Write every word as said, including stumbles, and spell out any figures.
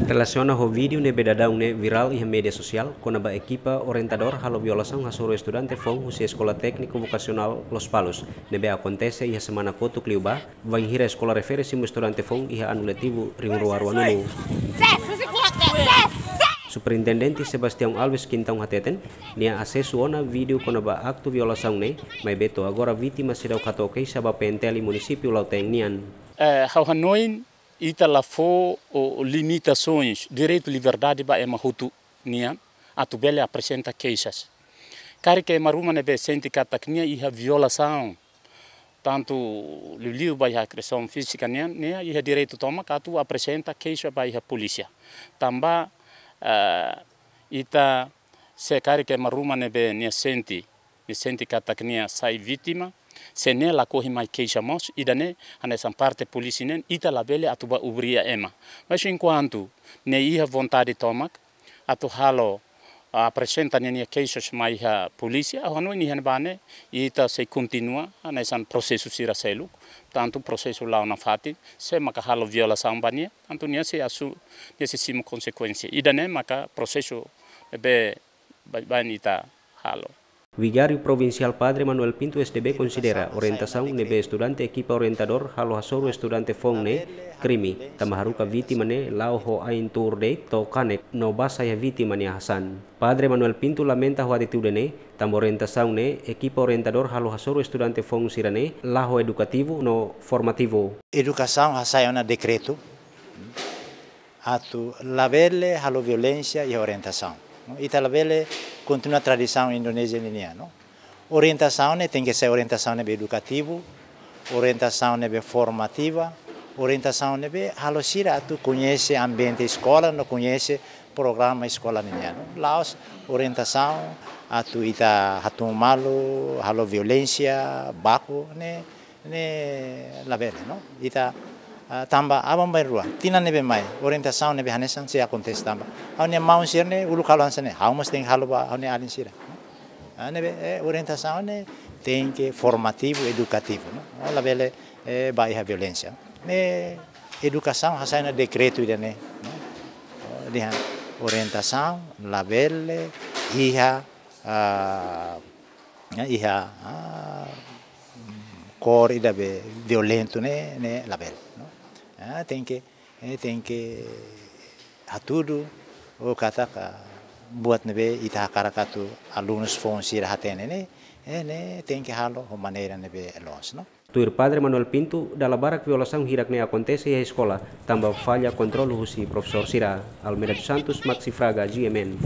Relasiona ho vídeo ne'ebé daudaun ne'e virál iha média sosiál, kona-ba ekipa orientadór halo violasaun hasoru estudante foun husi Eskola Tékniku Vokasionál Lospalos, ne'ebé akontese iha semana kotuk liubá, bainhira eskola refere simu estudante foun iha anu letivu rihun rua ruanulu. Superintendente Sebastião Alves Quintão hateten, nia asesu ona vídeo kona-ba aktu violasaun ne'e, maibé to'o agora vítima seidauk hato'o keixa ba P N T L munisípiu Lautein nian. Eh, ha'u hanoin ita la fó o limitasoens, direitu liberdade ba ema hotu nian, atu bele aprezenta keixas. Karik ema ruma ne'ebé sente katak nia iha violasaun, tantu liuliu ba iha agresaun fízika nian, nia iha direitu tomak atu aprezenta keixa ba iha polísia. Tanba, eh, ita se karik ema ruma ne'ebé nia sente, nia sente katak nia sai vítima, se nia lakohi mai keixa mós, ida-ne'e hanesan parte polísia nian, ita labele atu bá obriga ema. Mas enkuantu nia iha vontade tomak atu halo, aprezenta ninia keixas mai iha polísia, ha'u hanoin iha ne'ebá ne'e ita sei kontinua hanesan prosesu sira seluk, tantu prosesu la'o nafatin, se maka halo violasaun ba nia, tantu nia sei asu, nia sei simu konsekuénsia. Ida-ne'e maka prosesu ne'ebé baibain ita halo. Vigáriu Provinsiál Padre Manuel Pinto S D B konsidera orientasaun ne'ebé estudante ekipa orientadór halo hasoru estudante foun ne'e krime, tanba haruka vítima ne'e la'o ho ain tuur de'it to'o kanek no basa iha vítima nia hasan. Padre Manuel Pinto lamenta ho atitude ne'e, tanba orientasaun ne'e ekipa orientadór halo hasoru estudante foun sira-ne'e la ho edukativu no formativu. Edukasaun hasai ona dekretu atu labele halo violénsia iha orientasaun. Ita labele kontinua tradisaun Indonézia ninian, no? Orientasaun ne'e tenke sai orientasaun ne'ebé edukativu, orientasaun ne'ebé formativa, orientasaun ne'ebé halo sira atu koñese ambiente eskola no koñese programa eskola ninian, no? La'ós orientasaun atu ita hatún malu, halo violénsia, baku, ne'e ne'e labele, no? Ita, ah, tanba aban-bainrua, tinan ne'ebé mai, orientasaun ne'ebé hanesan sei akontese tanba ha'u-nia maun sira-ne'e uluk halo hanesan ne'e, ha'u mós tenke halo ba ha'u-nia alin sira, no? Ah, ne'ebé, eh, orientasaun ne'e tenke formativu, edukativu, no? Ah, labele, eh, bá iha violénsia. Ne'e edukasaun hasai ona dekretu ida-ne'e, no? Oh, dehan orientasaun labele iha, ah, ya, iha, ah, kór ida be violentu ne'e, ne'e labele, no? Ah, tenke, eh, tenke hatudu, o katak, ah, buat ne'ebé ita hakarak atu alunus foun sira hatene ne'e, eh, ne'e tenke halo ho maneira ne'ebé loos, no? Tuir Padre Manuel Pinto, dala barak violasaun hirak ne'e akontese iha eskola, tanba falla kontrolu husi profesór sira. Almeida dos Santos, Maxi Fraga, G M N.